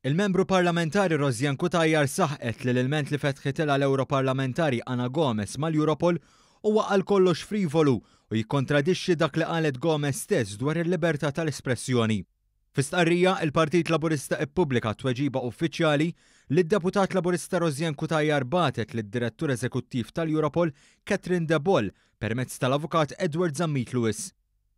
Il-Membru Parlamentari Rosianne Cutajar saħqet li l-ilment li fetħitilha l-Ewroparlamentari Ana Gomes mal-Europol huwa għal kollox frivolu u jikkontradixxi dak li qalet Gomes stess dwar il-libertà tal-espressjoni. Fi stqarrija, il-Partit Laburista ippubblika tweġiba uffiċjali li d-Deputat Laburista Rosianne Cutajar bagħtet lid-Direttur Eżekuttiv tal-Europol Catherine De Boll permezz tal-Avukat Edward Zammit Lewis.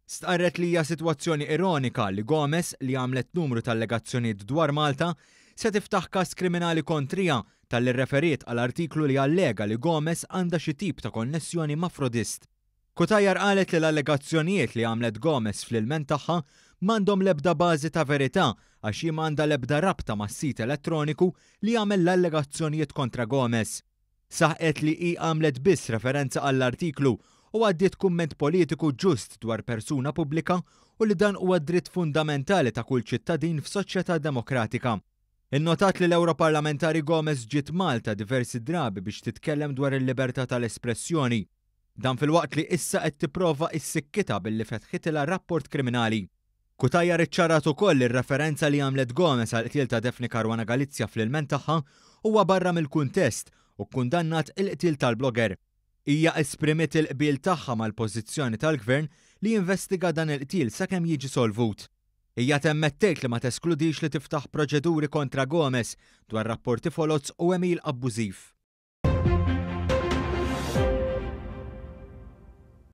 Stqarret li hija sitwazzjoni ironika li Gomes, li għamlet numru ta' allegazzjonijiet dwar Malta, se tiftaħ każ kriminali kontriha talli rreferiet għal artiklu li allega li Gomes għandha xi tip ta' konnessjoni ma' frodist. Cutajar qalet li l-allegazzjonijiet li għamlet Gomes fl-ilment tagħha m'għandhom l-ebda bażi ta' verità għax hi m'għandha l-ebda rabta mas-sit elettroniku li għamel l-allegazzjonijiet kontra Gomes. Saħqet li hi għamlet biss referenza għall-artiklu u għaddiet kumment politiku ġust dwar persuna pubblika u li dan huwa dritt fundamentali ta' kull ċittadin f'soċjetà demokratika. Innotat li l-Ewroparlamentari Gomes ġiet Malta diversi drabi biex titkellem dwar il-libertà tal-espressjoni. Dan filwaqt li issa qed tipprova issikkitha billi fetħitilha rapport kriminali. Cutajar iċċarat ukoll li r-referenza li għamlet Gomes għall-qtil ta' Daphne Caruana Galizia fl-ilment tagħha huwa barra mill-kuntest u kkundannat il-qtil tal-blogger. Hija esprimiet il-qbil tagħha mal-pożizzjoni tal-Gvern li jinvestiga dan il-qtil sakemm jiġi solvut. Hija temmet tgħid li ma teskludix li tiftaħ proċeduri kontra Gomes dwar rapporti foloz u għemil abbużiv.